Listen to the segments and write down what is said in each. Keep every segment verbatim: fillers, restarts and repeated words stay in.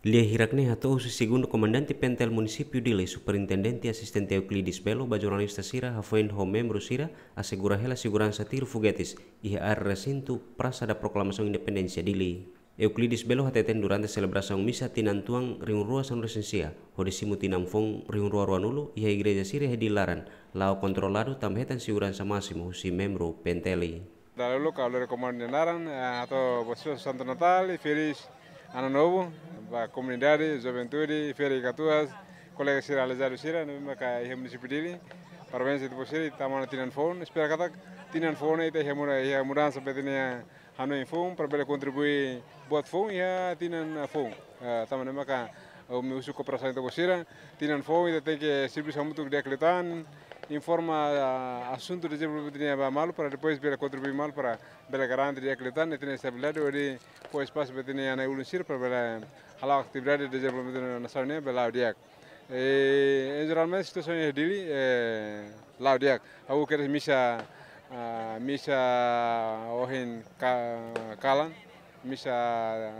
Lia hirak ne'e hato'o husi Segundu Komandante PNTL Munisípiu Dili, Superintendente Asistente Euclides Belo, ba jornalista sira, hafoin ho membru sira asegura hela seguransa tiru fogetes iha área resintu Praça da Proclamação Independência Dili. Euclides Belo hateten durante selebrasaun misa tinan tuan rihun rua sanulu-resin-sia, hodi simu tinan foun rihun rua ruanulu, iha igreja sira iha Dili laran, la'o kontroladu tanba hetan seguransa másimu husi membru PNTL. Dala uluk ha'u lori komandu nia naran, eh, hato'o ba sira Santo Natal i Feliz Ano Novo, ba komunidade, juventude, ferik-katuas, kolega sira aleijadu sira, ne'ebé maka iha munisípiu Dili. Parabéns ita-boot sira, ita tama ona tinan foun, espera katak tinan foun ita iha muda-, iha mudansa ba ita-nia hanoin foun, para bele kontribui buat foun iha tinan foun. Eh, tanba ne'e maka, eh, ami husu kooperasaun ita-boot sira, tinan foun ita tenke servisu hamutuk di'ak liután, informa, ah, asuntu dezenvolvimentu nian ba malu para depois bele kontribui malu para bele garante di'ak liután ita-nia estabilidade hodi fó espasu ba ita-nia na'i-ulun sira para bele hala'o atividade dezenvolvimentu nasaun nian bele la'o di'ak. Eh, em geral mesmu situasaun iha Dili, eh, la'o di'ak. Ha'u kedas misa, ah, misa ohin ka-, kalan, misa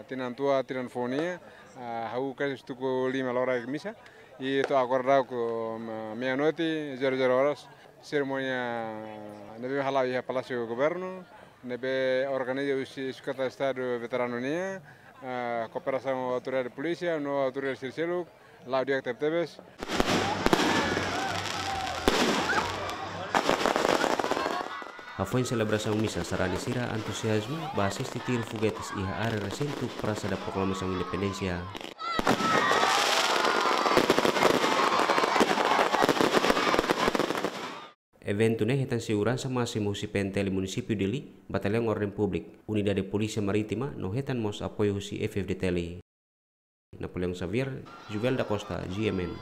tinan tuan, tinan foun nian, ah, ha'u kedas tuku lima loraik misa. I to'o agora daudaun, ah, meia-noite, zero zero horas, serimónia ne'ebé hala'o iha Palásiu Governu, ne'ebé organiza husi Sekretáriu Estadu veteranu nian, ah, kooperasaun autoridade polísia no autoridade sira seluk, la'o di'ak tebetebes. Hafoin selebrasaun misa, sarani sira antuziazmu ba asiste tiru fogetes iha área resintu Praça da Proclamação Independência. Eventu ne'e hetan seguransa másimu husi PNTL Munisípiu Dili, Bataliaun Orden Públika, Unidade Polísia Marítima, no hetan mós apoiu husi F-FDTL. Napoleão Xavier, Juvel da Costa, G M N.